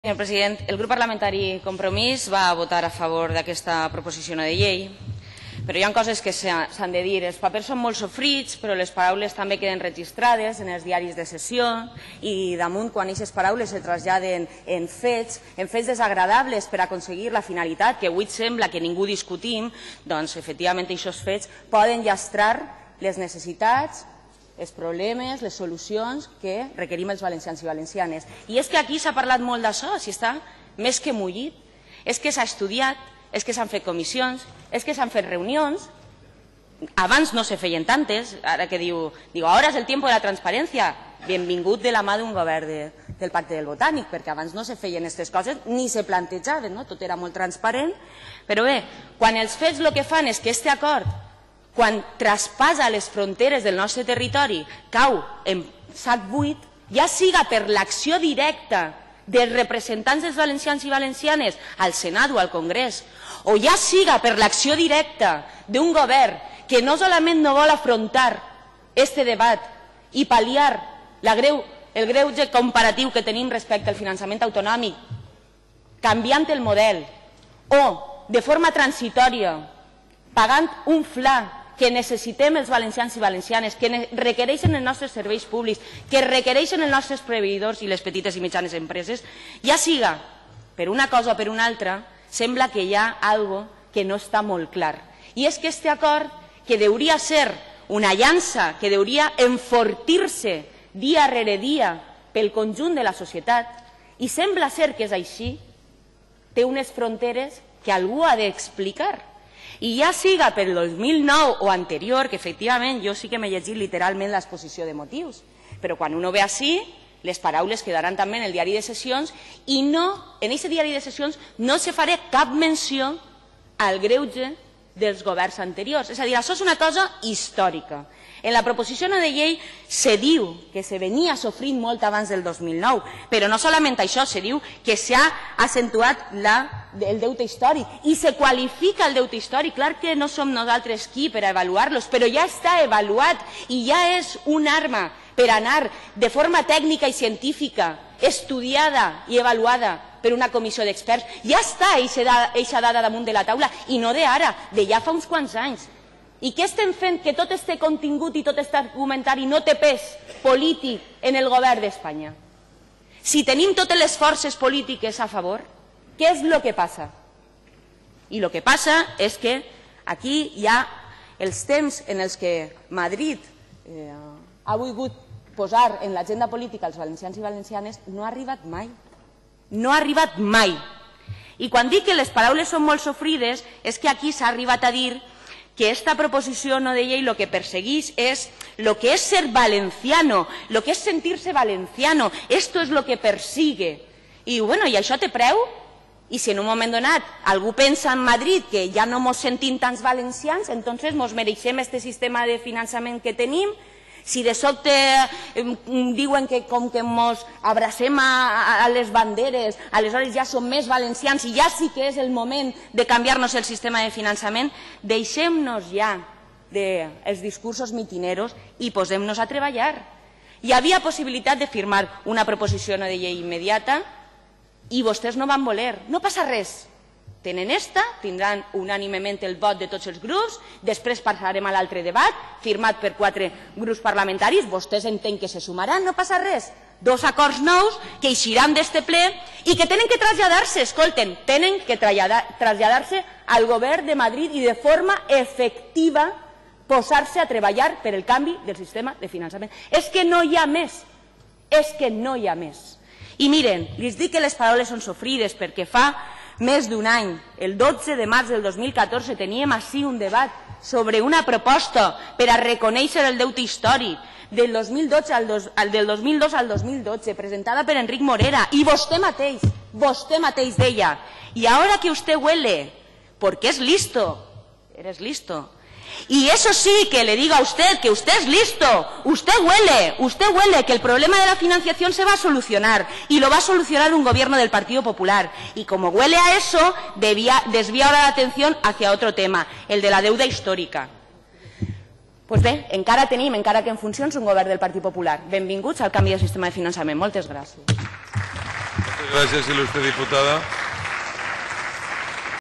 Senyor president, el grup parlamentari Compromís va votar a favor d'aquesta proposició de llei, però hi ha coses que s'han de dir. Els papers són molt sofrits, però les paraules també queden registrades en els diaris de sessió i damunt, quan aquestes paraules se traslladen en fets desagradables per aconseguir la finalitat, que avui sembla que ningú discutim, doncs efectivament aquests fets poden llastrar les necessitats, els problemes, les solucions que requerim els valencians i valencianes. I és que aquí s'ha parlat molt d'això, si està més que mullit. És que s'ha estudiat, és que s'han fet comissions, és que s'han fet reunions. Abans no se feien tantes, ara que diu, ara és el temps de la transparència. Benvingut de la mà d'un govern del Pacte del Botànic, perquè abans no se feien aquestes coses ni se plantejaven, tot era molt transparent. Però bé, quan els fets el que fan és que aquest acord, quan traspassa les fronteres del nostre territori, cau en sac buit, ja siga per l'acció directa dels representants dels valencians i valencianes al Senat o al Congrés, o ja siga per l'acció directa d'un govern que no solament no vol afrontar aquest debat i pal·liar el greuge comparatiu que tenim respecte al finançament autonòmic, canviant el model, o de forma transitòria, pagant un fla que necessitem els valencians i valencianes, que requereixen els nostres serveis públics, que requereixen els nostres proveïdors i les petites i mitjanes empreses, ja siga per una cosa o per una altra, sembla que hi ha alguna cosa que no està molt clar. I és que aquest acord, que hauria de ser una llança, que hauria enfortir-se dia rere dia pel conjunt de la societat, i sembla ser que és així, té unes fronteres que algú ha d'explicar. I ja siga per el 2009 o anterior, que efectivament jo sí que m'he llegit literalment l'exposició de motius, però quan uno ve així, les paraules quedaran també en el diari de sessions i en aquest diari de sessions no se farà cap menció al greuge dels governs anteriors. És a dir, això és una cosa històrica. En la proposició de llei se diu que se venia sofrint molt abans del 2009, però no solament això, se diu que s'ha accentuat el deute històric i se qualifica el deute històric. Clar que no som nosaltres qui per avaluar-los, però ja està avaluat i ja és una arma per anar de forma tècnica i científica, estudiada i avaluada per una comissió d'experts. Ja està eixa dada damunt de la taula i no d'ara, de ja fa uns quants anys. I què estem fent que tot este contingut i tot aquest argumentari no té pes polític en el govern d'Espanya? Si tenim totes les forces polítiques a favor, què és el que passa? I el que passa és que aquí hi ha els temps en els que Madrid ha volgut posar en l'agenda política els valencians i valencianes, no ha arribat mai. No ha arribat mai. I quan dic que les paraules són molt sofrides és que aquí s'ha arribat a dir que esta proposició de llei lo que perseguís es lo que es ser valenciano, lo que es sentirse valenciano. Esto es lo que persigue. I bueno, i això té preu? I si en un moment donat algú pensa en Madrid que ja no mos sentim tants valencians, entonces mos mereixem este sistema de finançament que tenim. Si de sobte diuen que com que ens abracem a les banderes, aleshores ja som més valencians i ja sí que és el moment de canviar-nos el sistema de finançament, deixem-nos ja dels discursos mitineros i posem-nos a treballar. Hi havia possibilitat de firmar una proposició de llei immediata i vostès no van voler. No passa res. Tenen esta, tindran unànimement el vot de tots els grups, després passarem a l'altre debat, firmat per 4 grups parlamentaris, vostès entenc que se sumaran, no passa res. 2 acords nous que eixiran d'este ple i que tenen que traslladar-se, escolten, tenen que traslladar-se al govern de Madrid i de forma efectiva posar-se a treballar per el canvi del sistema de finançament. És que no hi ha més, és que no hi ha més. I miren, els dic que les paraules són sofrides perquè fa més d'un any, el 12 de març del 2014, teníem així un debat sobre una proposta per a reconèixer el deute històric del 2002 al 2012, presentada per Enric Morera, i vostè mateix deia, y ahora que usted huele, porque es listo, eres listo. Y eso sí, que le digo a usted que usted es listo, usted huele que el problema de la financiación se va a solucionar y lo va a solucionar un gobierno del Partido Popular. Y como huele a eso, desvía ahora la atención hacia otro tema, el de la deuda histórica. Pues bé, encara tenim, encara que en funcions, un govern del Partit Popular. Benvinguts al canvi de sistema de finançament. Moltes gràcies. Gracias, ilustre diputada.